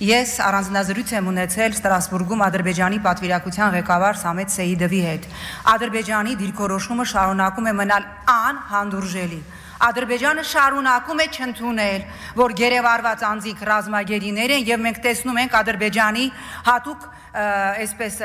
Ես առանձնազրույց եմ ունեցել Ստրասբուրգում Ադրբեջանի պատվիրակության ղեկավար Սամետ Սեիդովի հետ։ Ադրբեջանի դիրքորոշումը շարունակում է մնալ անհանդուրժելի։ Ադրբեջանը շարունակում է չընդունել, որ գերեվարված անձիկ ռազմագերիներ են եւ մենք տեսնում ենք Ադրբեջանի հատուկ այսպես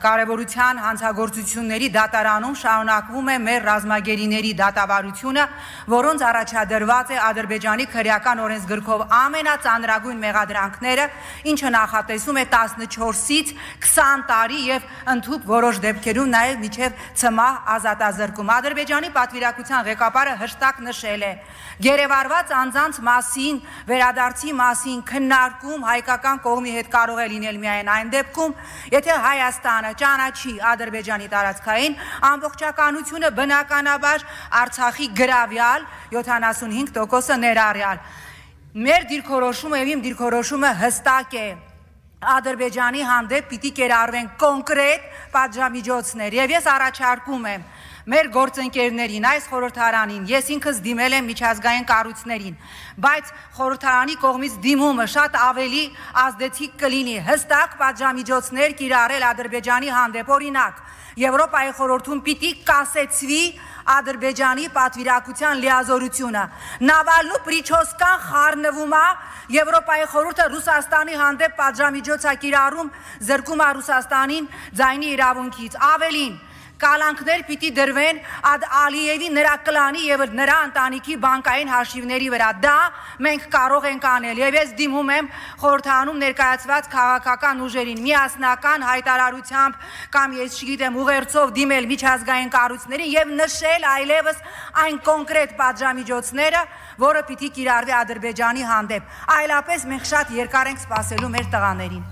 կարևորության հանցագործությունների դատարանում շարունակվում է մեր ռազմագերիների դատավարությունը, որոնց առաջադրված է Ադրբեջանի քրեական օրենսգրքով ամենածանրագույն մեղադրանքները, ինչը նախատեսում է 14-ից 20 տարի եւ ընդհուպ որոշ դեպքերում նաեւ միջև ցմահ ազատազրկում։ Ադրբեջանի պատվիրակության ղեկավարը հստակ նշել է. գերեվարված անձանց մասին, վերադարձի մասին քննարկում հայկական կողմի հետ կարող է լինել միայն այն դեպքում, եթե Հայաստանը ճանաչի Ադրբեջանի տարածքային ամբողջականությունը, բնականաբար Արցախի գրավյալ 75% ներառյալ։ Մեր դիրքորոշումը եւ իմ դիրքորոշումը հստակ է։ Ադրբեջանի հանդեպ պիտի կերարվեն կոնկրետ պատժամիջոցներ եւ ես առաջարկում եմ մեր գործընկերներին, այս խորհրդարանին, ես ինքս դիմել եմ միջազգային կառույցներին, բայց խորհրդարանի կողմից դիմումը շատ ավելի ազդեցիկ կլինի հստակ պատժամիջոցներ կիրառել Ադրբեջանի հանդեպ, օրինակ Եվրոպայի խորհրդում պիտի կասեցվի Ադրբեջանի պատվիրակության լիազորությունը։ Նավալնու Պրիչոսկան խառնվում է, Եվրոպայի խորհուրդը Ռուսաստանի հանդեպ պատժամիջոց է կիրառում, զրկում է Ռուսաստանին ձայնի իրավունքից։ Ավելին, կալանքներ պիտի դրվեն Ալիևի նրա կլանի եւ նրա ընտանիքի բանկային հաշիվների վրա։ Դա մենք կարող ենք անել եւ ես դիմում եմ խորհրդարանում ներկայացված քաղաքական ուժերին միասնական հայտարարությամբ կամ ես չգիտեմ ուղերձով դիմել միջազգային կառույցներին եւ նշել այլևս այն կոնկրետ պատժամիջոցները, որը պիտի կիրառվի Ադրբեջանի հանդեպ։ Այլապես մենք շատ երկար ենք սպասելու մեր տղաներին։